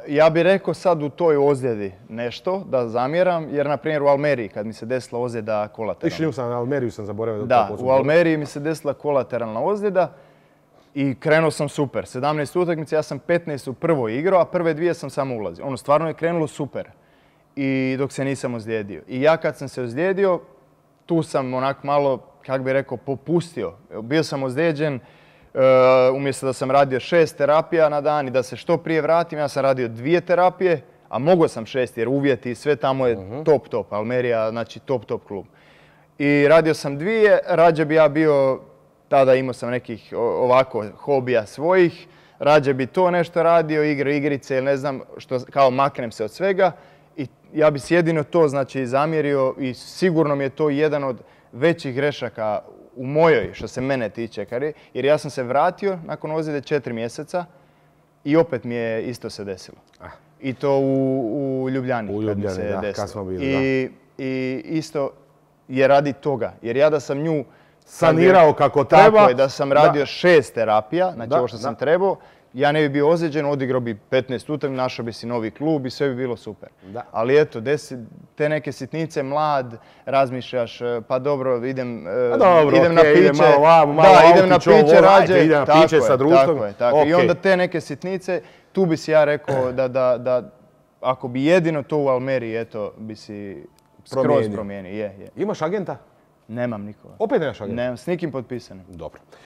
ja bih rekao sad u toj ozljedi nešto da zamjeram, jer na primjer u Almeriji kad mi se desila ozljeda kolateralna. Išli sam na Almeriju, sam zaboravio. Da, u Almeriji mi se desila kolateralna ozljeda i krenuo sam super. 17 utakmica, ja sam 15 u prvoj igrao, a prve dvije sam samo ulazio. Ono stvarno je krenulo super. I dok se nisam ozlijedio. I ja kad sam se ozlijedio, tu sam onak malo, kako bih rekao, popustio. Bio sam ozlijeđen, umjesto da sam radio 6 terapija na dan i da se što prije vratim, ja sam radio 2 terapije, a mogao sam 6 jer uvjeti sve tamo je top. Almerija, znači top klub. I radio sam 2, rađe bi ja bio, tada imao sam nekih ovako hobija svojih, rađe bi to nešto radio, igrice ili ne znam, što kao maknem se od svega. I ja bi si jedino to znači zamjerio i sigurno mi je to jedan od većih grešaka u mojoj, što se mene tiče, jer ja sam se vratio nakon ozljede 4 mjeseca i opet mi je isto se desilo. I to u Ljubljani kad mi se desilo. Kad smo bili, I isto je radi toga, jer ja da sam nju sanirao kako treba. Tako je, da sam radio 6 terapija, znači ovo što sam trebao, ja ne bi bio ozlijeđen, odigrao bi 15 utakmica, našao bi si novi klub i sve bi bilo super. Ali eto, te neke sitnice, mlad, razmišljaš, pa dobro, idem na piće. Idem na piće rađe. Idem na piće sa društvom. Tako je. I onda te neke sitnice, tu bi si ja rekao da ako bi jedino to u Almeriji, eto, bi si skroz promijenio. Imaš agenta? Nemam nikoga. Opet nemaš agenta? Nemam, s nikim potpisanim. Dobro.